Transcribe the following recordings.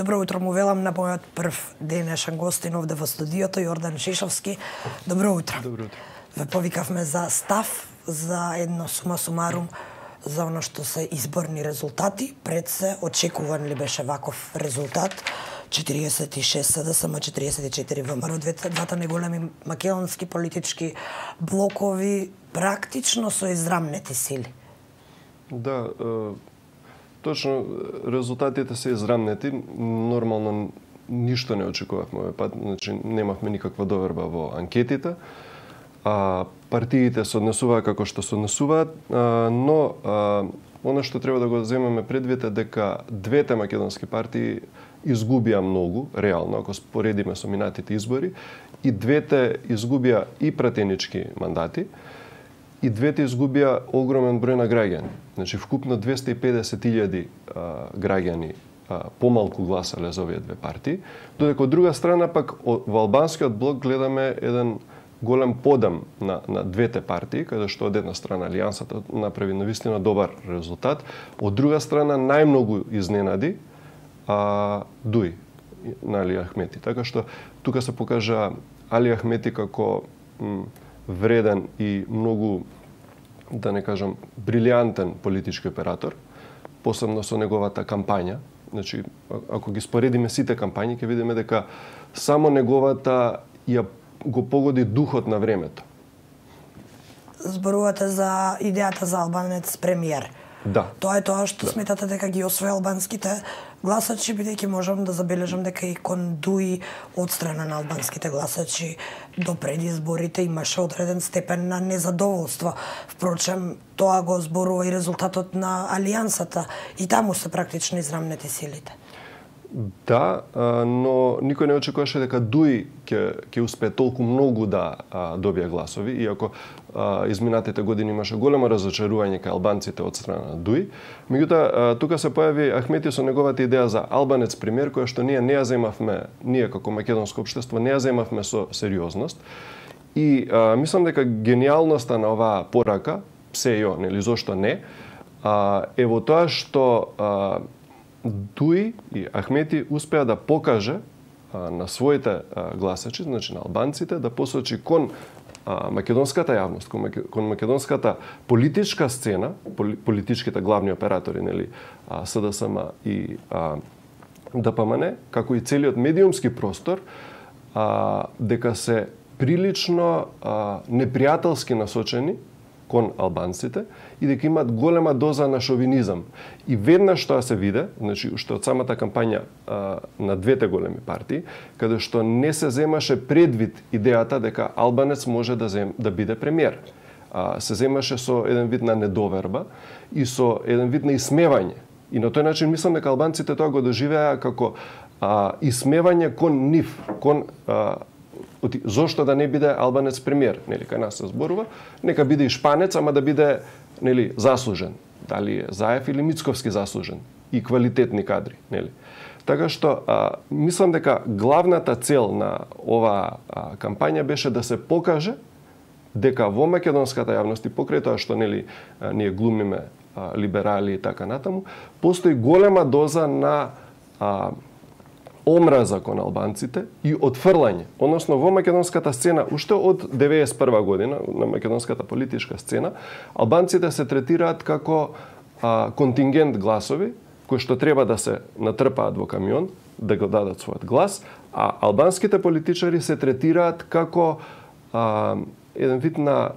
Добро утро му велам на мојот прв денешен гостин овде во студиото, Јордан Шишовски. Добро утро. Добро утро. Ве повикавме за став, за едно сума сумарум, за оно што се изборни резултати. Пред се, очекуван ли беше ваков резултат? 46 СДСМ, 44 ВМРО, двата најголеми македонски политички блокови, практично со израмнети сили. Да, точно, резултатите се израмнети. Нормално ништо не очекувавме овој пат, значи немавме никаква доверба во анкетите. Партиите се однесуваат како што се однесуваат, но оно што треба да го земеме предвид е дека двете македонски партии изгубија многу, реално, ако споредиме со минатите избори, и двете изгубија и пратенички мандати, и двете изгубија огромен број на граѓани. Значи, вкупно 250.000 граѓани помалку гласале за овие две партии, додека од друга страна пак во албанскиот блок гледаме еден голем подем на двете партии, каде што од една страна Алијансата направи навистина добар резултат, од друга страна најмногу изненади Дуи на Али Ахмети. Така што тука се покажа Али Ахмети како вреден и многу, да не кажам, брилијантен политички оператор, посебно со неговата кампања. Значи, ако ги споредиме сите кампањи, ќе видиме дека само неговата ја го погоди духот на времето. Зборувате за идејата за албанец премиер. Да. Тоа е тоа што сметате дека ги освои албанските гласачи, бидејќи можам да забележам дека и кон Дуи од страна на албанските гласачи до пред изборите имаше одреден степен на незадоволство. Впрочем, тоа го зборува и резултатот на Алијансата, и таму се практично израмнети силите. Да, но никој не очекуваше дека Дуи ќе успее толку многу да добие гласови, иако изминатите години имаше големо разочарување кај албанците од страна на Дуи. Меѓутоа, тука се појави Ахмети со неговата идеја за албанец премиер, која што ние не ја земавме, ние како македонско општество не ја земавме со сериозност. И мислам дека гениалноста на оваа порака, се ја, нели, зошто не, е во тоа што Дуи и Ахмети успеа да покаже на своите гласачи, значи на албанците, да посочи кон македонската јавност, кон македонската политичка сцена, политичките главни оператори, нели, СДСМ и ДПМН, како и целиот медиумски простор, дека се прилично непријателски насочени кон албанците и дека имаат голема доза на шовинизам. И веднаш тоа се виде, значи уште од самата кампања на двете големи партии, каде што не се земаше предвид идејата дека албанец може да биде премиер. Се земаше со еден вид на недоверба и со еден вид на исмевање. И на тој начин мислам дека албанците тоа го доживеа како исмевање кон нив, кон зошто да не биде албанец премиер, нели, кај нас се зборува, нека биде и шпанец, ама да биде, нели, заслужен, дали е Заев или Мицковски заслужен и квалитетни кадри, нели. Така што мислам дека главната цел на оваа кампања беше да се покаже дека во македонската јавност и покрај тоа што, нели, ние глумиме либерали и така натаму, постои голема доза на омраза кон албанците и отфрлање. Односно, во македонската сцена, уште од 91 година, на македонската политичка сцена, албанците се третираат како контингент гласови, кои што треба да се натрпаат во камион, да го дадат својот глас, а албанските политичари се третираат како еден вид на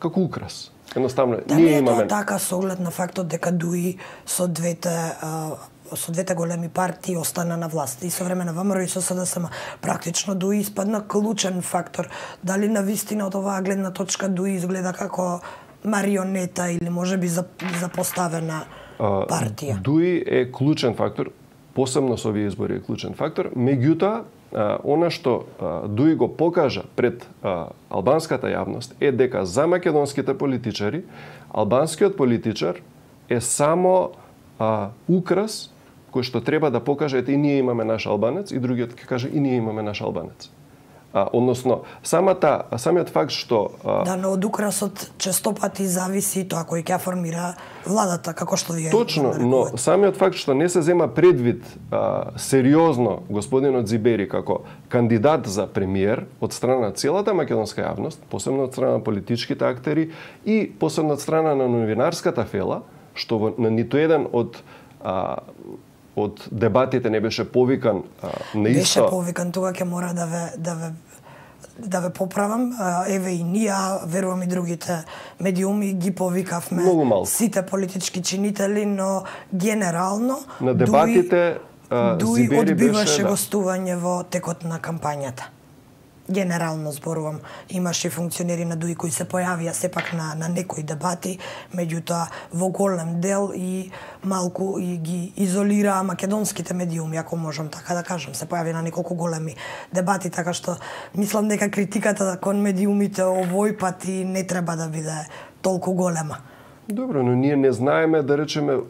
како украс. Едноставно, ние имаме... Тоа така со оглед на фактот дека Дуи со двете големи партии остана на власт и со време на ВМРО и со СДСМ. Практично Дуи испадна клучен фактор. Дали на вистина од оваа гледна точка Дуи изгледа како марионета или можеби запоставена партија? Дуи е клучен фактор, посебно со овие избори е клучен фактор. Меѓутоа, она што Дуи го покажа пред албанската јавност е дека за македонските политичари албанскиот политичар е само украс кој што треба да покаже и ние имаме наш албанец и другиот ќе каже и ние имаме наш албанец. Односно, самиот факт што... Да, но од украсот честопати зависи тоа кој ќе формира владата, како што вие... Точно, но самиот факт што не се зема предвид сериозно господинот Зибери како кандидат за премиер од страна на целата македонска јавност, посебно од страна на политичките актери и посебно од страна на новинарската фела, што на ниту еден од дебатите не беше повикан на исто... Беше повикан, тога ќе мора да ве поправам. Еве и ние, верувам и другите медиуми ги повикавме сите политички чинители, но генерално на дебатите Дуи Зибери одбиваше беше, гостување во текот на кампањата. Генерално зборувам, имаше функционери на ДУИ кои се појавија сепак на некои дебати, меѓутоа во голем дел и малку и ги изолираа македонските медиуми, ако можам така да кажам, се појави на неколку големи дебати, така што мислам дека критиката кон медиумите овој пат и не треба да биде толку голема. Добро, но ние не знаеме, да речеме,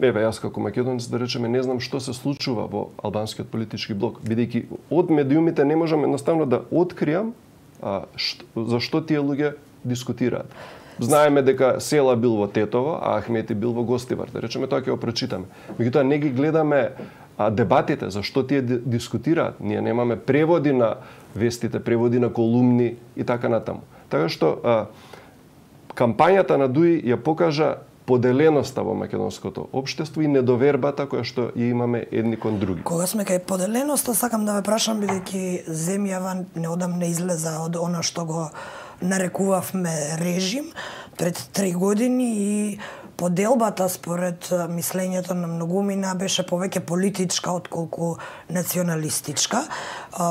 еве јас како македонец, да речеме, не знам што се случува во албанскиот политички блок, бидејќи од медиумите не можам едноставно да откријам зашто тие луѓе дискутираат. Знаеме дека Села бил во Тетово, а Ахмети бил во Гостивар, да речеме, тоа ќе го прочитаме. Меѓутоа не ги гледаме дебатите, зашто тие дискутираат. Ние немаме преводи на вестите, преводи на колумни и така натаму. Така што кампањата на ДУИ ја покажа поделеноста во македонското општество и недовербата која што ја имаме едни кон други. Кога сме кај поделеноста, сакам да ве прашам, бидејќи земјава неодамна излеза од она што го нарекувавме режим пред 3 години и поделбата според мислењето на многумина беше повеќе политичка отколку националистичка.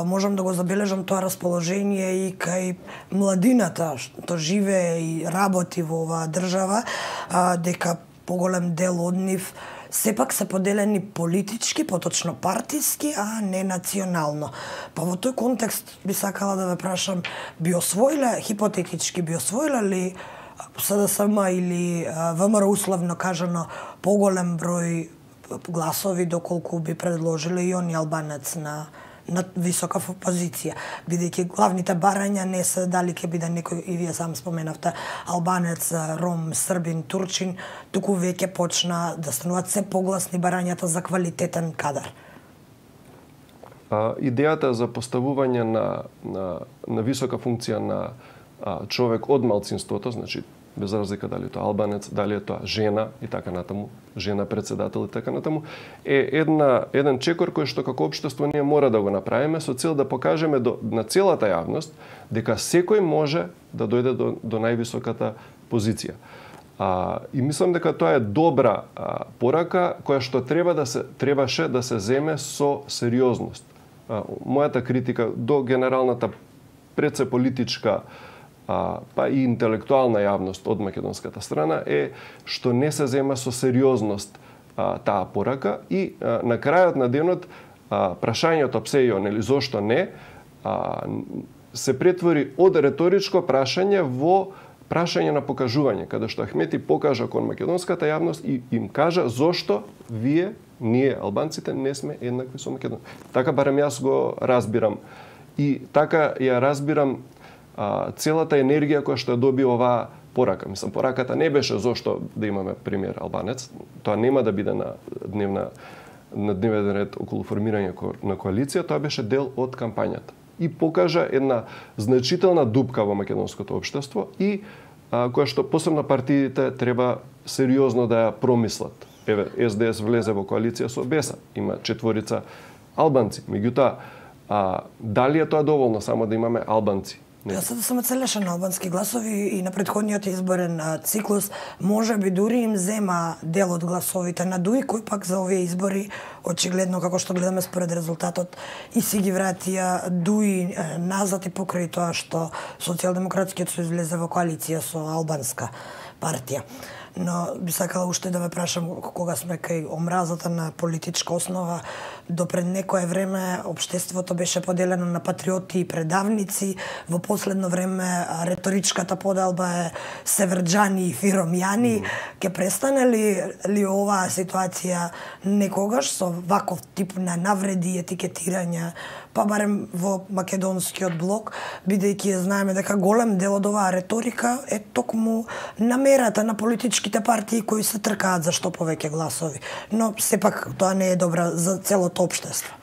Можам да го забележам тоа расположение и кај младината што живее и работи во оваа држава, дека поголем дел од нив сепак се поделени политички, поточно партиски, а не национално. Па во тој контекст би сакала да ве прашам, би освоиле, хипотетички би освоиле ли СДСМ или ВМРО условно кажано поголем број гласови доколку би предложиле и они албанец на висока позиција, бидејќи главните барања не се дали ќе биде некој, и вие сам споменавте, албанец, ром, србин, турчин, туку веќе почна да стануваат се погласни барањата за квалитетен кадар. Идејата за поставување на висока функција на човек од малцинството, значи без разлика дали тоа албанец, дали е тоа жена и така натаму, жена председател и така натаму, е еден чекор кој што како општество ние мора да го направиме со цел да покажеме на целата јавност дека секој може да дојде до највисоката позиција. И мислам дека тоа е добра порака која што требаше да се земе со сериозност. Мојата критика до генералната пред се политичка па и интелектуална јавност од македонската страна е што не се зема со сериозност таа порака и на крајот на денот прашањето псејо, нели зошто не, се претвори од реторичко прашање во прашање на покажување, каде што Ахмети покажа кон македонската јавност и им кажа зошто ние албанците не сме еднакви со Македонија. Така барем јас го разбирам и така ја разбирам целата енергија која што ја доби оваа порака. Мислам, пораката не беше зошто да имаме премиер албанец. Тоа нема да биде на дневен ред околу формирање на коалиција, тоа беше дел од кампањата. И покажа една значителна дупка во македонското општество и која што посебно партиите треба сериозно да ја промислат. Еве, СДС влезе во коалиција со БЕСА, има 4 албанци. Меѓутоа, дали е тоа доволно само да имаме албанци? Јас да сум целешен албански гласови и на претходниот изборен циклус може би дури им зема дел од гласовите на ДУИ, кој пак за овие избори очигледно како што гледаме според резултатот и си ги вратија ДУИ назад и покрај тоа што Социјалдемократскиот сојуз влезе во коалиција со албанска партија. Но би сакала уште да ве прашам, кога сме кај омразата на политичка основа, до пред некое време општеството беше поделено на патриоти и предавници, во последно време реторичката поделба е северџани и фиромјани. Ке престане ли оваа ситуација некогаш со ваков тип на навреди и етикетирање, па барем во македонскиот блок, бидејќи знаеме дека голем дел од оваа реторика е токму намерата на политичките партии кои се тркаат за што повеќе гласови. Но сепак тоа не е добра за целото општество.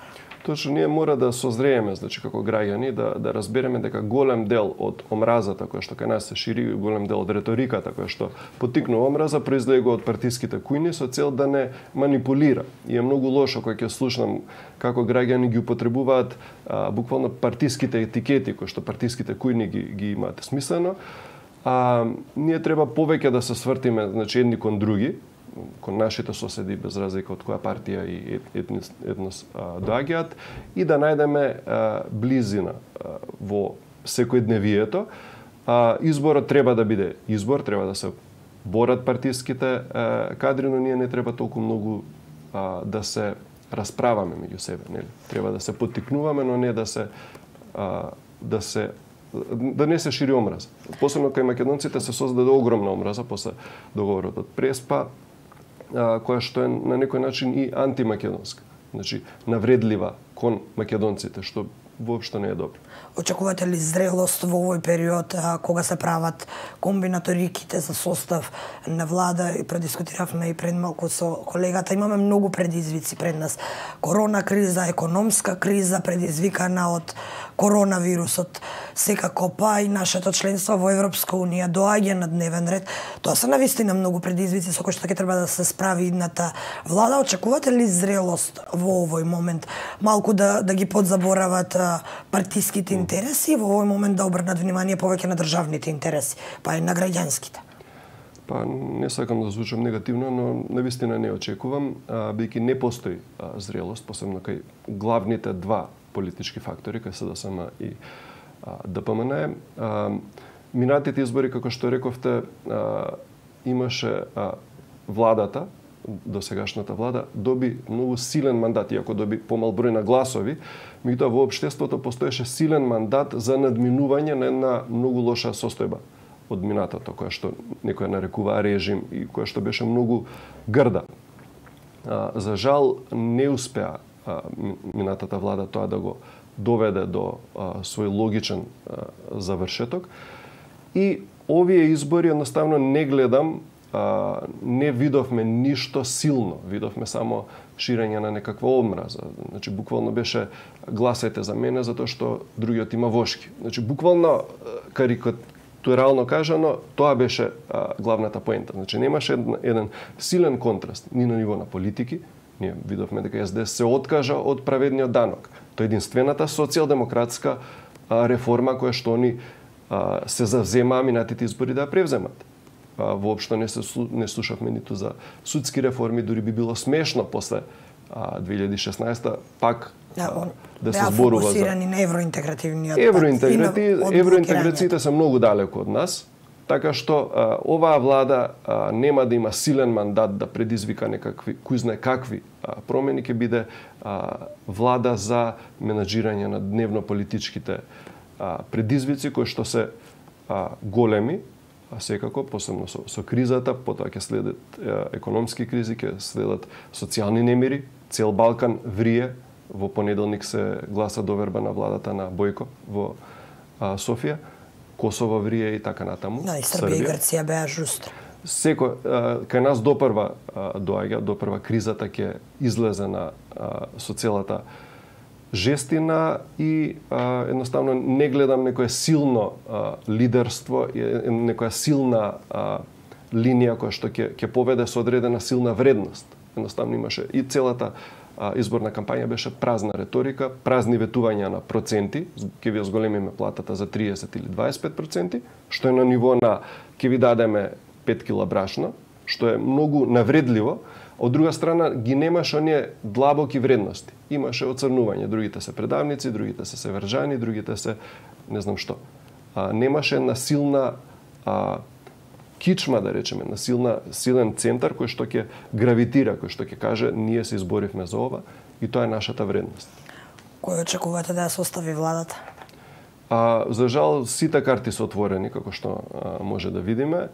Точно, ние мора да созрееме, значи како граѓани, да разбереме дека голем дел од омразата која што кај нас се шири, голем дел од реториката која што поттикнува омраза, произлегува од партиските кујни со цел да не манипулира. И е многу лошо кога ќе слушнам како граѓани ги употребуваат буквално партиските етикети кои што партиските кујни ги имаат смислено. Ние треба повеќе да се свртиме, значи, едни кон други, кон нашите соседи, без разлика од која партија и етнос доаѓаат, и да најдеме близина во секојдневието. Изборот треба да биде избор, треба да се борат партиските кадри, но ние не треба толку многу да се расправаме меѓу себе, нели? Треба да се поттикнуваме, но не да не се шири омраза. Посебно кај македонците се создаде огромна омраза после договорот од Преспа, која што е на некој начин и антимакедонска. Значи, навредлива кон македонците, што воопшто не е добро. Очекувате ли зрелост во овој период кога се прават комбинаториките за состав на влада? И предискутиравме и пред малку со колегата. Имаме многу предизвици пред нас. Корона криза, економска криза предизвикана од коронавирусот, секако па и нашето членство во Европска унија доаѓа на дневен ред. Тоа се навистина многу предизвици со кои што ќе треба да се справи идната влада. Очекувате ли зрелост во овој момент? Малку да ги подзаборават партиските интереси, во овој момент да обрнат внимание повеќе на државните интереси, па и на граѓанските? Па не сакам да звучам негативно, но навистина не очекувам, бидејќи не постои зрелост, посебно кај главните два политички фактори, кај СДСМ и ДПМН. Минатите избори, како што рековте, имаше владата, досегашната влада, доби многу силен мандат, иако доби помал број на гласови, меѓутоа во општеството постоеше силен мандат за надминување на една многу лоша состојба од минатото, која што некоја нарекува режим и која што беше многу грда. За жал не успеа минатата влада тоа да го доведе до свој логичен завршеток. И овие избори едноставно не гледам, не видовме ништо силно, видовме само ширење на некаква омраза. Значи, буквално беше гласајте за мене затоа што другиот има вошки. Значи, буквално карикатурално кажано, тоа беше главната поента. Значи, немаше еден силен контраст ни на ниво на политики. Ние видовме дека СДС се откажа од праведниот данок. Тоа е единствената социјалдемократска реформа која што они се завземаа минатите избори да ја превземат. Воопшто не слушавме ниту за судски реформи, дури би било смешно после 2016 пак да се зборува за фокусирани на евроинтегративниот евроинтеграциите се многу далеко од нас, така што оваа влада нема да има силен мандат да предизвика некакви кој знае какви промени, ќе биде влада за менаџирање на дневно политичките предизвици кои што се големи, секако, посебно со кризата, потоа ќе следат економски кризи, ќе следат социјални немири. Цел Балкан врие. Во понеделник се гласа доверба на владата на Бојко во Софија. Косово врие и така натаму. Да, и Србија и Грција беа жустри. Кај нас допрва доаѓа, допрва кризата ќе излезе со целата жестина и едноставно не гледам некое силно лидерство, некоја силна линија која што ќе поведе со одредена силна вредност. Едноставно имаше и целата изборна кампања беше празна реторика, празни ветувања на проценти, ќе ви зголемиме платата за 30 или 25%, што е на ниво на ќе ви дадеме 5 кила брашно, што е многу навредливо. Од друга страна ги немаше оние длабоки вредности. Имаше оцрнување, другите се предавници, другите се северџани, другите се не знам што. Немаше една силна кичма, да речеме, на силен центар кој што ќе гравитира, кој што ќе каже ние се изборивме за ова и тоа е нашата вредност. Кој очекувате да ја состави владата? За жал, сите карти се отворени, како што може да видиме.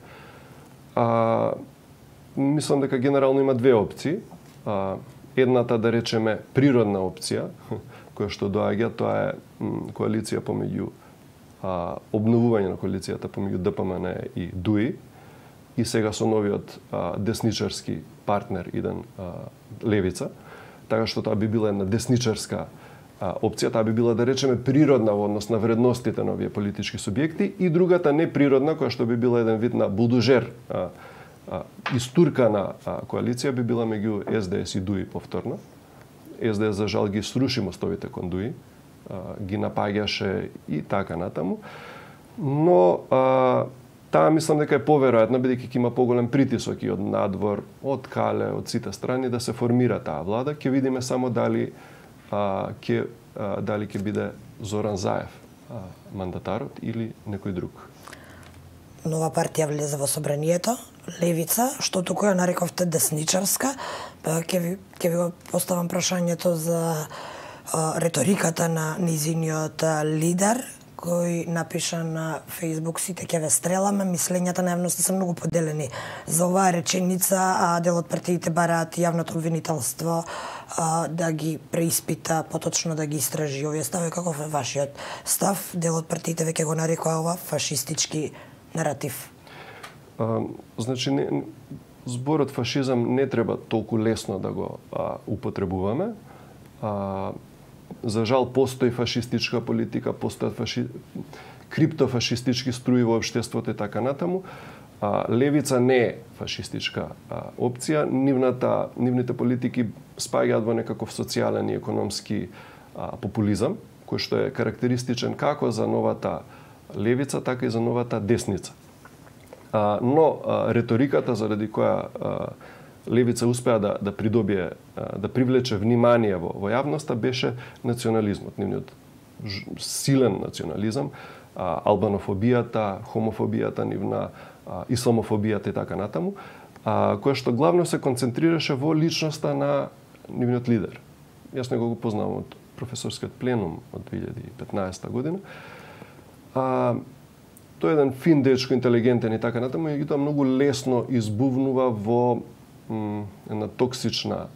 Мислам дека генерално има две опции. Едната, да речеме, природна опција, која што доаѓа, тоа е коалиција помеѓу обновување на коалицијата помеѓу ДПМН и ДУИ, и сега со новиот десничарски партнер иден Левица, така што тоа би била една десничарска опција, таа би била, да речеме, природна во однос на вредностите на овие политички субјекти, и другата неприродна, која што би била еден вид на булдожер, истуркана коалиција, би била меѓу СДС и ДУИ повторно. СДС за жал ги сруши мостовите кон ДУИ, ги напаѓаше и така натаму, но таа мислам дека е поверојатно, бидејќи ќе има поголем притисок и од надвор, од Кале, од сите страни да се формира таа влада. Ќе видиме само дали ќе биде Зоран Заев мандатарот или некој друг. Нова партија влезе во собранието, Левица, што туку ја нарековте десничарска. Ќе ви го поставам прашањето за реториката на низиниот лидер, кој напиша на Фејсбук: сите ќе ве стреламе. Мислењата на јавноста се многу поделени за оваа реченица, а дел од партиите бараат јавното обвинителство да ги преиспита, поточно да ги истражи овие стави. Каков е вашиот став? Дел од партиите веќе го нарекува ова фашистички наратив. Значи, зборот фашизам не треба толку лесно да го употребуваме. За жал, постои фашистичка политика, постојат криптофашистички струи во општеството и така натаму. Левица не е фашистичка опција. Нивните политики спаѓаат во некаков социјален и економски популизам, кој што е карактеристичен како за новата левица, така и за новата десница. Но реториката заради која Левица успеа да придобие, да привлече внимание во јавноста, беше национализмот, нивниот силен национализам, албанофобијата, хомофобијата нивна, исламофобијата и така натаму, која што главно се концентрираше во личноста на нивниот лидер. Јас него го познавам од професорскиот пленум од 2015 година. Тој е еден фин дечко, интелигентен и така натаму, и тоа многу лесно избувнува во една токсична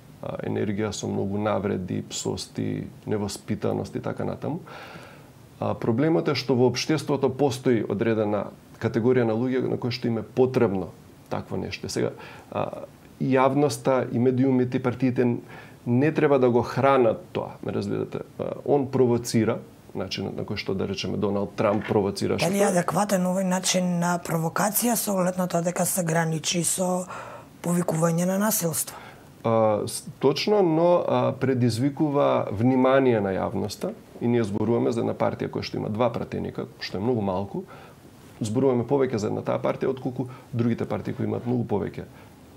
енергија со многу навреди, псости, невоспитаност и така натаму. Проблемот е што во општеството постои одредена категорија на луѓе на кои што им е потребно такво нешто. Сега, јавноста и медиумите и партиите не треба да го хранат тоа, ме разбирате. Он провоцира, начинот на кој што, да речеме, Доналд Трамп провоцираше. Дали е адекватен овој начин на провокација со оглед на тоа дека се граничи со повикување на насилство? Точно, но предизвикува внимание на јавноста, и ние зборуваме за една партија која што има 2 пратеника, што е многу малку. Зборуваме повеќе за една таа партија отколку другите партии кои имаат многу повеќе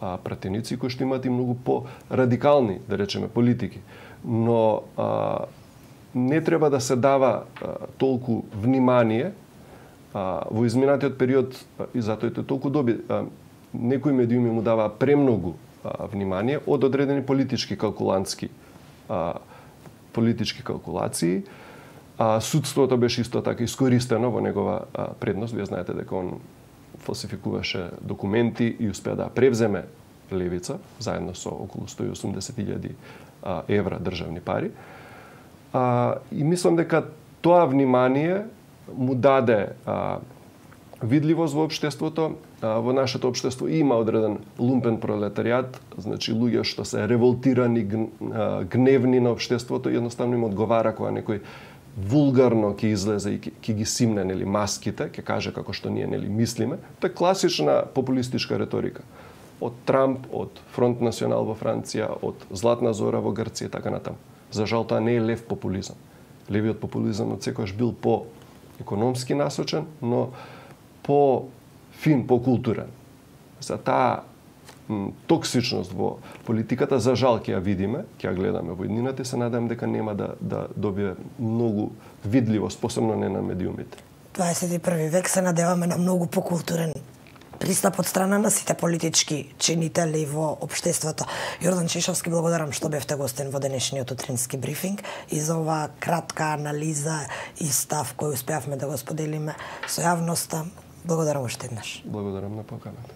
пратеници, кои што имаат и многу по-радикални, да речеме, политики. Но не треба да се дава толку внимание во изминатиот период, и затоа е толку доби. Некои медиуми му даваа премногу внимание од одредени политички калкулации. Судството беше исто така искористено во негова предност. Вие знаете дека он фалсификуваше документи и успеа да превземе Левица, заедно со околу 180.000 евра државни пари. И мислам дека тоа внимание му даде видливост во општеството. Во нашето општество има одреден лумпен пролетаријат, значи луѓе што се револтирани, гневни на општеството, едноставно им одговара кога некој вулгарно ќе излезе и ќе ги симне, нели, маските, ќе каже како што ние, нели, мислиме. Тоа е класична популистичка реторика. Од Трамп, од Фронт Национал во Франција, од Златна Зора во Грција и така натаму. За жал, тоа не е лев популизам. Левиот популизам од секојаш бил по-економски насочен, но по-фин, по-културен. За таа токсичност во политиката, за жал, ќе ја видиме, ќе ја гледаме во иднината и се надам дека нема да добие многу видливост, посебно не на медиумите. 21 век се надеваме на многу покултурен пристап од страна на сите политички чинители во општеството. Јордан Чешовски, благодарам што бевте гостин во денешниот утрински брифинг и за оваа кратка анализа и став кој успеавме да го споделиме со јавноста. Благодарам уште еднаш. Благодарам на поканата.